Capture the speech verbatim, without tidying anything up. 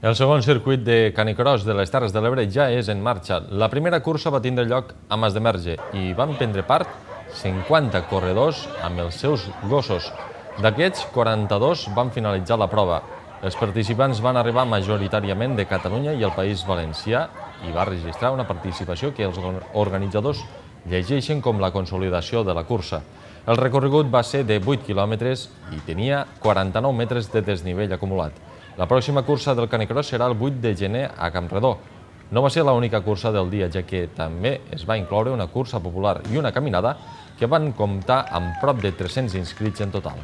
El segon circuit de canicross de les Terres de l'Ebre ja és en marxa. La primera cursa va tindre lloc a Mas de Merge i van prendre part cinquanta corredors amb els seus gossos. D'aquests, quaranta-dos van finalitzar la prova. Els participants van arribar majoritàriament de Catalunya i el País Valencià i va registrar una participació que els organitzadors llegeixen com la consolidació de la cursa. El recorregut va ser de vuit quilòmetres i tenia quaranta-nou metres de desnivell acumulat. La pròxima cursa del canicross serà el vuit de gener a Campredó. No va ser l'única cursa del dia, ja que també es va incloure una cursa popular i una caminada que van comptar amb prop de tres-cents inscrits en total.